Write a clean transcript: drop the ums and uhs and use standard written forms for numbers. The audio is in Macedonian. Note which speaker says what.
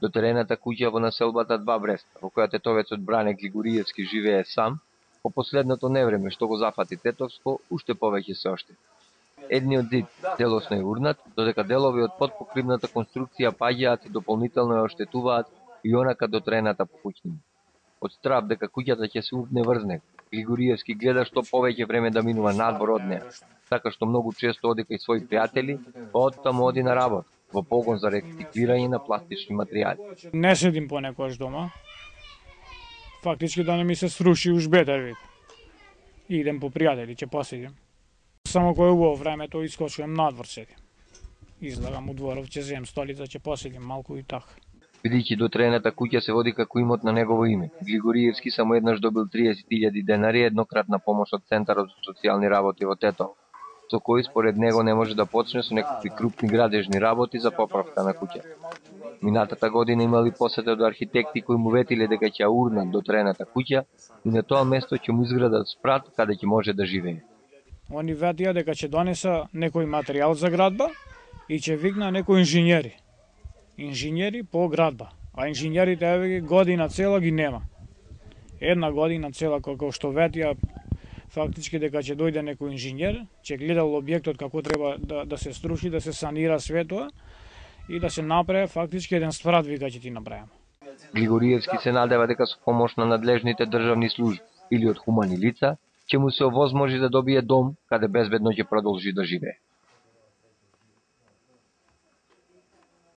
Speaker 1: До терената куќа во населбата Два Бреста, во која тетовецот Бране Григориевски живее сам, по последното невреме што го зафати Тетовско, уште повеќе се оштети. Едниот зид целосно е урнат, додека делови од подпокривната конструкција паѓаат и дополнително ја оштетуваат и онака до терената по куќиња. Од страв дека куќата ќе се урне врз него, Григориевски гледа што повеќе време да минува надвор од неа, така што многу често оди кај своји пријатели, па оттаму оди на работа, во погон за рециклирање на пластични материјали.
Speaker 2: Не седим понекогаш дома. Фактички да не ми се сруши уж бетер вид. Идем по пријатели, ќе поседим. Само кој убаво времето искочувам надвор седим. Излагам у дворов, ќе земам столица, ќе поседим малку и така.
Speaker 1: Бидејќи до терената куќа се води како имот на негово име, Григориевски само еднаш добил 30.000 денари еднократна помош од Центарот за социјални работи во Тетово, со кој според него не може да почне со некакви крупни градежни работи за поправка на куќа. Минатата година имали посета од архитекти кои му ветиле дека ќе урнат до терената куќа и на тоа место ќе му изградат спрат каде ќе може да живее.
Speaker 2: Они ветија дека ќе донеса некој материјал за градба и ќе викна некои инженери. Инженери по градба, а инженерите еве година цела ги нема. Една година цела како што ветија фактички дека ќе дојде некој инженер, ќе гледал објектот како треба да се струши, да се санира светоа и да се направи фактички еден спрат вика ќе ти направиме.
Speaker 1: Григориевски се надева дека со помош на надлежните државни служби или од хумани лица ќе му се овозможи да добие дом каде безбедно ќе продолжи да живее.